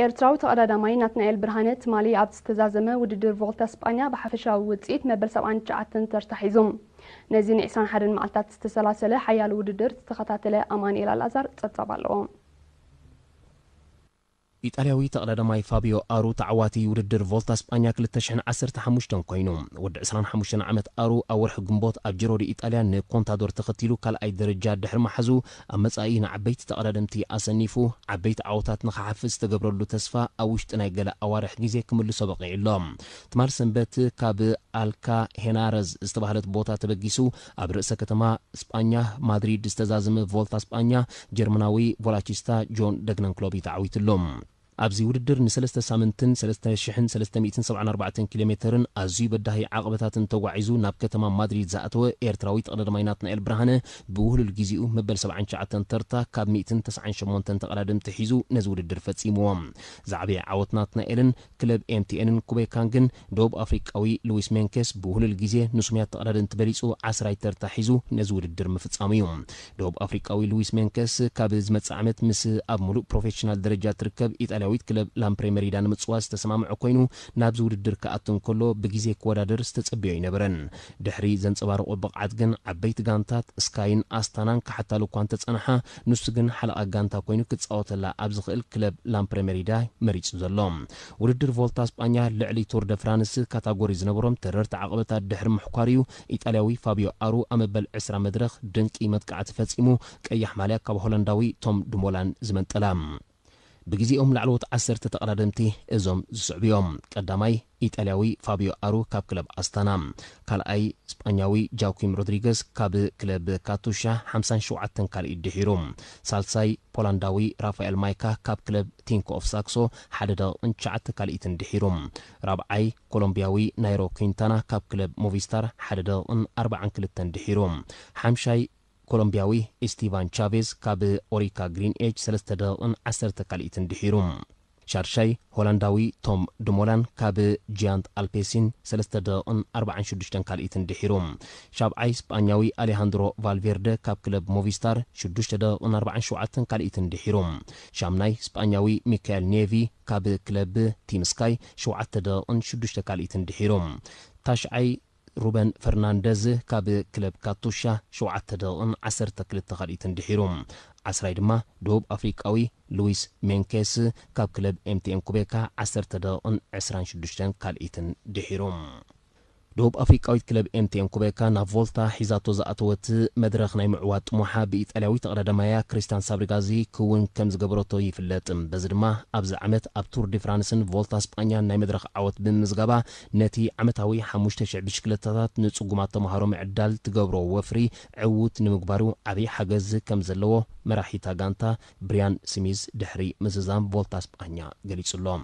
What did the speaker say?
ኤርትራዊ ተቐዳዳማይ ናትናኤል ብርሃነ ትማሊ ኣብ ዝተዛዘመ ውድድር ቮልታ ስጳኛ ብሓፈሻዊ ውጽኢት መበል ሰብዓን ትሽዓተን ተርታ ሒዙ። ነዚ ን ዕስራን ሓደን መዓልታት ዝተሰላሰለ ሓያል ውድድር ዝተኸታተለ ኣማኑኤል ኣልኣዛር ጸብጻብ ኣለዎ። ኢጣልያዊ ተቐዳዳማይ ፋቢዮ ኣሩ ተዓዋቲ ውድድር ቮልታ ስጳኛ ክልተ ሽሕን ዓሰርተ ሓሙሽተን ኮይኑ፣ ወዲ ዕስራን ሓሙሽተን ዓመት ኣሩ ኣብ ወርሒ ግንቦት ኣብ ጅሮ ዲ ኢጣልያ ንኮንታዶር ተኸቲሉ ካልኣይ ደረጃ ድሕሪ ምሓዙ፣ ኣብ መጻኢ ንዓበይቲ ተቐዳደምቲ ኣሰኒፉ ዓበይቲ ዓወታት ንኽሓፍስ ዝተገብረሉ ተስፋ ኣብ ውሽጢ ናይ ገለ ኣዋርሕ ግዜ ክምልሶ በቒዑ ኣሎ። ትማል ሰንበት ካብ ኣልካ ሄናረዝ ዝተባህለት ቦታ ተበጊሱ ኣብ ርእሰ ከተማ ስጳኛ ማድሪድ ዝተዛዘመ ቮልታ ስጳኛ ጀርመናዊ ቮላቺስታ ጆን ደግነንክሎብ እዩ ተዓዊትሉ። ኣብዚ ውድድር ንሰለስተ ሳምንትን ሰለስተ ሽሕን ሰለስተ ሚእትን ሰብዓን ኣርባዕተን ኪሎ ሜተርን ኣዝዩ በዳሂ ዓቕበታትን ተጓዒዙ ናብ ከተማ ማድሪድ ዝኣተወ ኤርትራዊ ተቐዳዳማይ ናትናኤል ብርሃነ ብውህሉል ግዜኡ መበል ሰብዓን ትሽዓተን ተርታ ካብ ሚእትን ተስዓን ሸሞንተን ተቐዳደምቲ ሒዙ ነዚ ውድድር ፈጺምዎ። ዝዓበየ ዓወት ናትናኤልን ክለብ ኤምቲኤንን ኩቤካን ግን ደቡብ ኣፍሪቃዊ ሉዊስ ሜንኬስ ብውህሉል ግዜ ንሱምያት ተቐዳደምቲ በሊጹ ዓስራይ ተርታ ሒዙ ነዚ ውድድር ምፍጻሙ እዩ። ደቡብ ኣፍሪቃዊ ሉዊስ ሜንኬስ ካብ ዝመጽእ ዓመት ምስ ኣብ ሙሉእ ፕሮፌሽናል ደረጃ ትርከብ ኢጣልያዊት ክለብ ላምፕሬ መሪዳ ንምጽዋት ዝተሰማምዐ ኮይኑ፣ ናብዚ ውድድር ክኣቱ እንከሎ ብግዜ ክወዳደር ዝተጸበዮ ኣይነበረን። ድሕሪ ዘንጸባረቖ ብቕዓት ግን ዓበይቲ ጋንታት ስካይን ኣስታናን ክሓታሉ እኳ እንተጸንሓ፣ ንሱ ግን ሓለቓ ጋንታ ኮይኑ ክጻወተላ ኣብ ዝኽእል ክለብ ላምፕሬ መሪዳ መሪጹ ዘሎ። ውድድር ቮልታ ስጳኛ ልዕሊ ቱር ደ ፍራንስ ካታጎሪ ዝነበሮም ተረርቲ ዓቐበታት ድሕሪ ምሕኳር እዩ ኢጣልያዊ ፋቢዮ ኣሩ ኣብ መበል ዕስራ መድረኽ ድንቂ መጥቃዕቲ ፈጺሙ ቀያሕ ማልያ ካብ ሆላንዳዊ ቶም ድሞላን ዝመንጠላ። ብግዜኦም ላዕለዎት ዓሰርተ ተቐዳደምቲ እዞም ዝስዕቡ እዮም። ቀዳማይ ኢጣልያዊ ፋቢዮ ኣሩ ካብ ክለብ ኣስታና፣ ካልኣይ ስጳኛዊ ጃኩም ሮድሪገስ ካብ ክለብ ካቱሻ ሓምሳን ሸውዓተን ካልኢት ድሒሩ፣ ሳልሳይ ፖላንዳዊ ራፋኤል ማይካ ካብ ክለብ ቲንኮ ኦፍ ሳክሶ ሓደ ደቂቕን ትሽዓተ ካልኢትን ድሒሩ፣ ራብዓይ ኮሎምቢያዊ ናይሮ ኩንታና ካብ ክለብ ሞቪስታር ሓደ ደቂቕን ኣርባዓን ክልተን ድሒሩ፣ ሓምሻይ ኮሎምቢያዊ ኢስቲቫን ቻቬዝ ካብ ኦሪካ ግሪን ኤጅ ሰለስተ ደቂቕን ዓሰርተ ካልኢትን ድሒሩ፣ ሻድሻይ ሆላንዳዊ ቶም ድሞላን ካብ ጂያንት ኣልፔሲን ሰለስተ ደቂቕን ኣርባዓን ሽዱሽተን ካልኢትን ድሒሩ፣ ሻብዓይ ስጳኛዊ ኣሌሃንድሮ ቫልቬርደ ካብ ክለብ ሞቪስታር ሽዱሽተ ደቂቕን ኣርባዓን ሸውዓተን ካልኢትን ድሒሩ፣ ሻምናይ ስጳኛዊ ሚካኤል ኔቪ ካብ ክለብ ቲም ስካይ ሸውዓተ ደቂቕን ሽዱሽተ ካልኢትን ድሒሩ፣ ታሽዓይ ሩበን ፈርናንደዝ ካብ ክለብ ካቱሻ ሸውዓተ ደቂቕን ዓሰርተ ክልተ ካልኢትን ድሒሩ፣ ዓስራይ ድማ ደቡብ ኣፍሪቃዊ ሉዊስ ሜንኬስ ካብ ክለብ ኤምቲኤን ኩቤካ ዓሰርተ ደቂቕን ዕስራን ሽዱሽተን ካልኢትን ድሒሩ። ደቡብ ኣፍሪቃዊት ክለብ ኤምቲኤን ኩቤካ ናብ ቮልታ ሒዛቶ ዝኣተወት መድረኽ ናይ ምዕዋት ጥሙሓ ብኢጣልያዊ ተቐዳዳማያ ክሪስታን ሳብሪጋዚ ክውን ከም ዝገበረቶ ይፍለጥ። በዚ ድማ ኣብዚ ዓመት ኣብ ቱር ዲ ፍራንስን ቮልታ ስጳኛን ናይ መድረኽ ዓወት ብምምዝጋባ ነቲ ዓመታዊ ሓሙሽተ ሽሕ ብሽክለታታት ንጽጉማት ተምሃሮ ምዕዳል ትገብሮ ወፍሪ ዕዉት ንምግባሩ ዓብዪ ሓገዝ ከም ዘለዎ መራሒታ ጋንታ ብሪያን ስሚዝ ድሕሪ ምዝዛም ቮልታ ስጳኛ ገሊጹ ኣሎ።